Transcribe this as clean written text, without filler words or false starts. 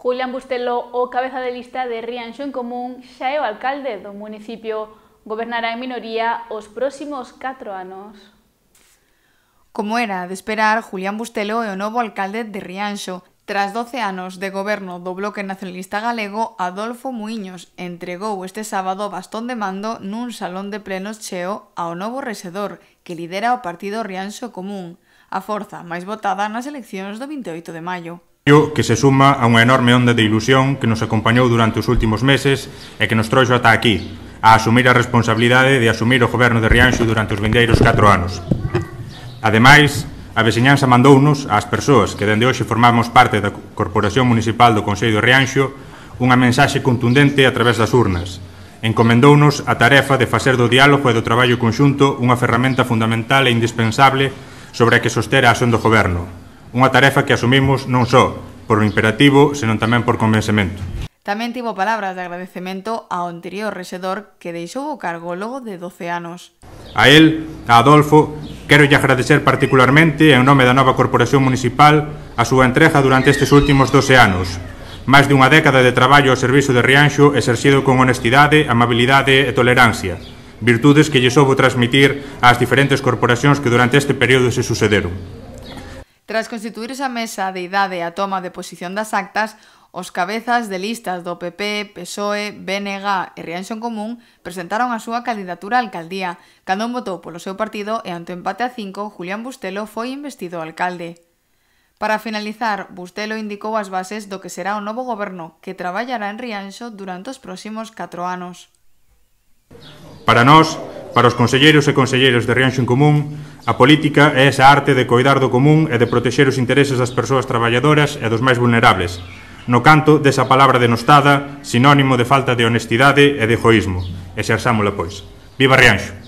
Julián Bustelo, o cabeza de lista de Rianxo en Común, xa é o alcalde do municipio. Gobernará en minoría os próximos 4 anos. Como era de esperar, Julián Bustelo é o novo alcalde de Rianxo. Tras 12 anos de goberno do Bloque Nacionalista Galego, Adolfo Muiños entregou este sábado o bastón de mando nun salón de plenos cheo ao novo rexedor que lidera o partido Rianxo Común, a forza máis votada nas eleccións do 28 de maio. Que se suma a unha enorme onda de ilusión que nos acompañou durante os últimos meses e que nos trouxo ata aquí, a asumir a responsabilidade de asumir o goberno de Rianxo durante os vindeiros 4 anos. Ademais, a veciñanza mandounos, ás persoas que dende hoxe formamos parte da Corporación Municipal do Concello de Rianxo, unha mensaxe contundente a través das urnas. Encomendounos a tarefa de facer do diálogo e do traballo conxunto unha ferramenta fundamental e indispensable sobre a que soster a acción do goberno. Unha tarefa que asumimos non só por o imperativo, senón tamén por convencemento. Tamén tivo palabras de agradecemento ao anterior rexedor que deixou o cargo logo de 12 anos. A él, a Adolfo, quero lle agradecer particularmente, en nome da nova Corporación Municipal, a súa entrega durante estes últimos 12 anos. Máis dunha década de traballo ao servizo de Rianxo exercido con honestidade, amabilidade e tolerancia, virtudes que lle soubo transmitir ás diferentes corporacións que durante este período se sucederon. Tras constituirse a mesa de idade e a toma de posición das actas, os cabezas de listas do PP, PSOE, BNG e Rianxo en Común presentaron a súa candidatura á alcaldía. Cada un votou polo seu partido e ante o empate a 5, Julián Bustelo foi investido alcalde. Para finalizar, Bustelo indicou as bases do que será o novo goberno que traballará en Rianxo durante os próximos 4 anos. Para nós, para os conselleiros e conselleiras de Rianxo en Común, a política é esa arte de coidar do común e de protexer os intereses das persoas traballadoras e dos máis vulnerables, no canto desa palabra denostada, sinónimo de falta de honestidade e de egoísmo. Exerzámola, pois. Viva Rianxo!